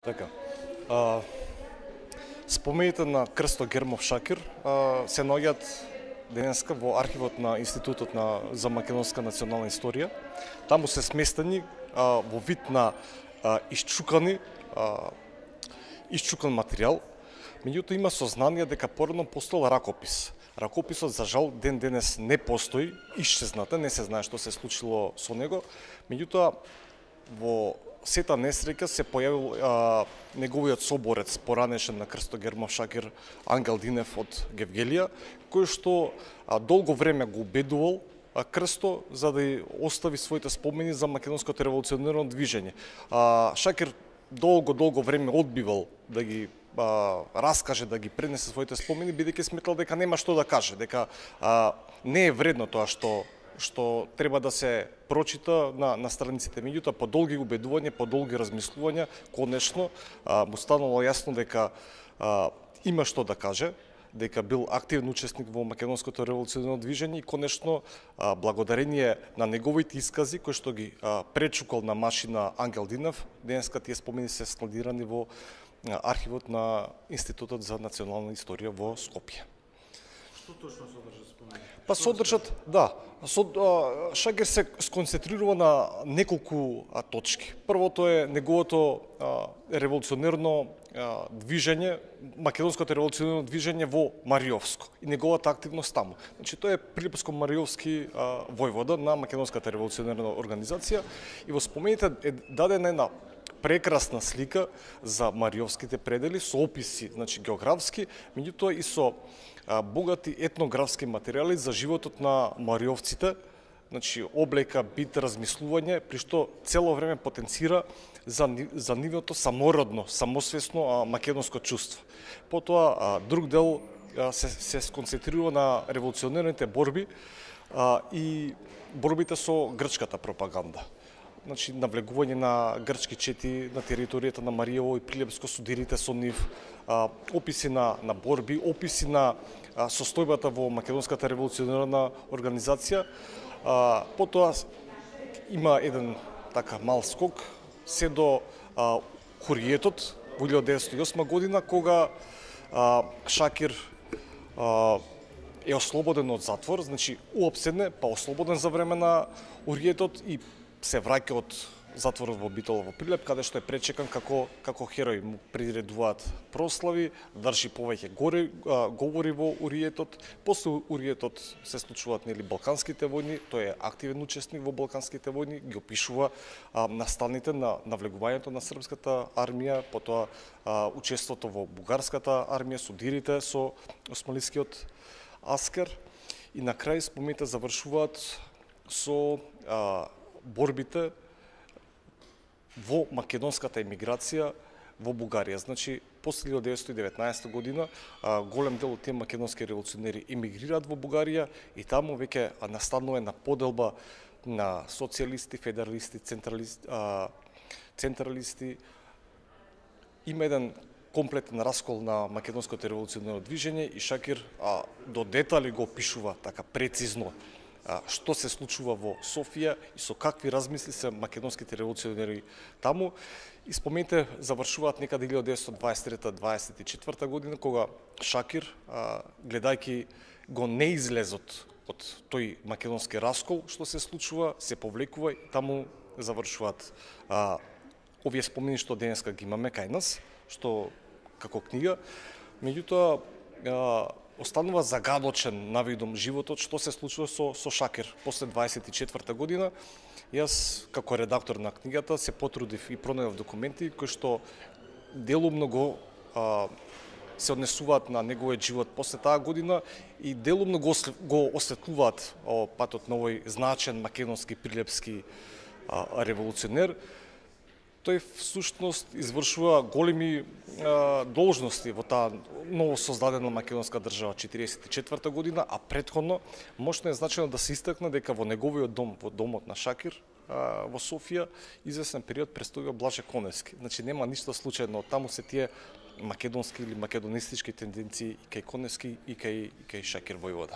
Така. Спомените на Крсто Гермов Шакир се наоѓаат денеска во архивот на Институтот за македонска национална историја. Таму се сместени во вид на исчукан материјал. Меѓутоа има сознание дека порано постоел ракопис. Ракописот за жал ден денес не постои, исчезната, не се знае што се случило со него. Меѓутоа во сета несреќа се појавил неговиот соборец, поранешен на Крсто Гермов Шакир, Ангел Динев од Гевгелија, кој што долго време го убедувал Крсто за да остави своите спомени за македонското револуционерно движење. Шакир долго време одбивал да ги раскаже, да ги пренесе своите спомени, бидејќи сметал дека нема што да каже, дека не е вредно тоа што треба да се прочита на страниците. Меѓутоа, по долги убедувања, по долги размислувања, конечно му станало јасно дека има што да каже, дека бил активен учесник во македонското револуционерно движење и конечно благодарение на неговите искази кои што ги пречукал на машина Ангел Динев, денеска тие спомени се складирани во архивот на Институтот за национална историја во Скопје. Што точно содржат спомени? Па содржат, да. Шакир се сконцентрирува на неколку точки. Првото е неговото револуционерно движење, македонското револуционерно движење во Мариовско и неговата активност таму. Значи тој е Прилепско-Мариовски војвода на македонската револуционерна организација и во спомените е дадена една прекрасна слика за мариовските предели со описи, значи географски, меѓутоа и со богати етнографски материјали за животот на мариовците, значи облека, бит, размислување, при што цело време потенцира за нивото самородно, самосвесно македонско чувство. Потоа друг дел се сконцентрирува на револуционерните борби и борбите со грчката пропаганда. Значи, навлегување на грчки чети на територијата на Мариево и Прилепско, судирите со нив, описи на борби, описи на состојбата во македонската револуционерна организација. Потоа има еден така мал скок се до Хуриетот во 1908 година, кога Шакир е ослободен од затвор, значи уопседне, па ослободен за време на Хуриетот и се враќа од затворот во Битола во Прилеп, каде што е пречекан како херој. Му приредуваат прослави, држи повеќе говори во Уриетот. После Уриетот се случуваат балканските војни, тој е активен учесник во балканските војни, ги опишува настаните на навлегувањето на српската армија, потоа учеството во бугарската армија, судирите со османлискиот аскер и на крај спомените завршуваат со борбите во македонската емиграција во Бугарија. Значи, после 1919 година голем дел од тие македонски револуционери емигрираат во Бугарија и таму веќе настанува една поделба на социјалисти, федералисти, централисти. Има еден комплетен раскол на македонското револуционерно движење и Шакир до детали го опишува така прецизно што се случува во Софија и со какви размисли се македонските револуционери таму. И спомените завршуваат некаде 1923-24 година, кога Шакир, гледајќи го неизлезот од тој македонски раскол, што се случува, се повлекува и таму завршуваат овие спомени што денеска ги имаме кај нас, што како книга. Меѓутоа, останува загадочен навидом животот што се случува со Шакир после 24 година. Јас како редактор на книгата се потрудив и пронајдов документи кои што делумно го се однесуваат на неговиот живот после таа година и делумно го осветлуваат патот на овој значен македонски прилепски револуционер. Тој всушност извршува големи должности во таа ново создадена македонска држава 1944 година, а претходно мощно е значено да се истакне дека во неговиот дом, во домот на Шакир во Софија, известен период престојува Блаже Коневски. Значи нема ништо случајно, таму се тие македонски или македонистички тенденции и кај Коневски и кај Шакир војвода.